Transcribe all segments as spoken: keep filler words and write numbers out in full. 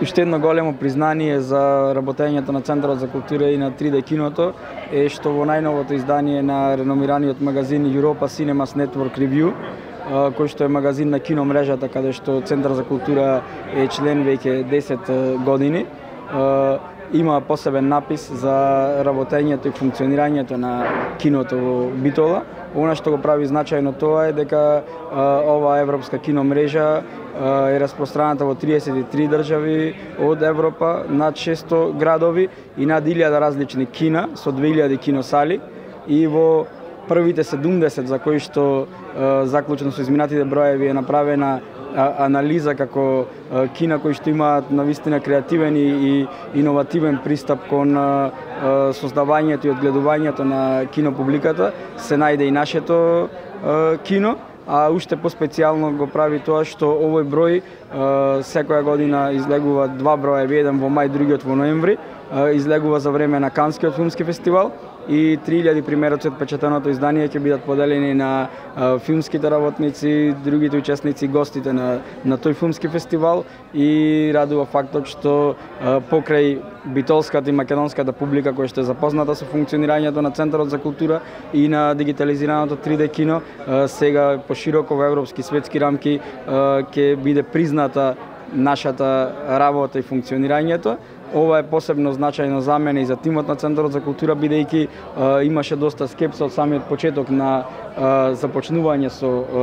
уште едно големо признание за работењето на Центарот за култура и на три Д киното е што во најновото издание на реномираниот магазин Europa Cinemas Network Review, кој што е магазин на киномрежата каде што Центар за култура е член веќе десет години, има посебен напис за работењето и функционирањето на киното во Битола. Она што го прави значајно тоа е дека ова европска киномрежа е распространата во триесет и три држави од Европа, над шесто градови и над илјада различни кина со две илјади киносали, и во првите седумдесет за кои што заклучно со изминатите броеви е направена анализа како кина кои што имаат навистина креативен и иновативен пристап кон создавањето и одгледувањето на кинопубликата, се најде и нашето кино. А уште поспецијално го прави тоа што овој број секоја година излегува два броеви, еден во мај, другиот во ноември, излегува за време на Канскиот филмски фестивал, и три илјади примероци од печатеното издание ќе бидат поделени на филмските работници, другите учесници, гостите на, на тој филмски фестивал, и радува фактот што покрај битолската и македонската публика која што е запозната со функционирањето на Центарот за култура и на дигитализираното три Д кино, сега пошироко во европски светски рамки ќе биде призната нашата работа и функционирањето. Ова е посебно значајно за мене и за тимот на Центарот за култура, бидејќи имаше доста скепса од самиот почеток на а, започнување со а,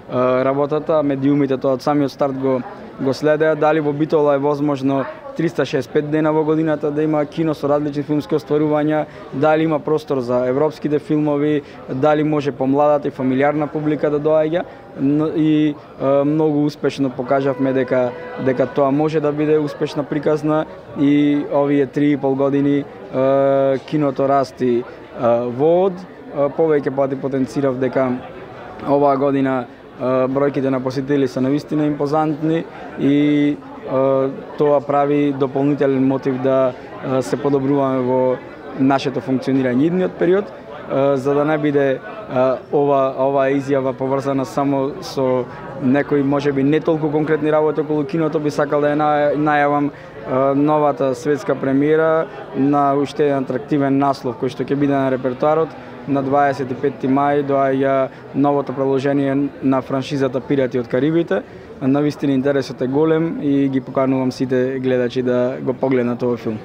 а, работата. Медиумите тоа од самиот старт го, го следеа. Дали во Битола е возможно триста шеесет и пет дена во годината да има кино со различни филмски остварувања, дали има простор за европските филмови, дали може помладата и фамилиарна публика да доаѓа, и е, многу успешно покажавме дека дека тоа може да биде успешна приказна, и овие три и пол години е, киното расти е, во од. Повеќе пати потенцирав дека оваа година е, бројките на посетители се навистина импозантни, и тоа прави дополнителен мотив да се подобруваме во нашето функционирање идниот период, за да не биде ова ова изјава поврзана само со некои можеби не толку конкретни работи околу киното. Би сакал да ја најавам новата светска премиера на уште еден атрактивен наслов кој што ќе биде на репертоарот. На дваесет и петти мај доаѓа новото продолжение на франшизата Пирати од Карибите. Навистина интересот е голем и ги поканувам сите гледачи да го погледнат овој филм.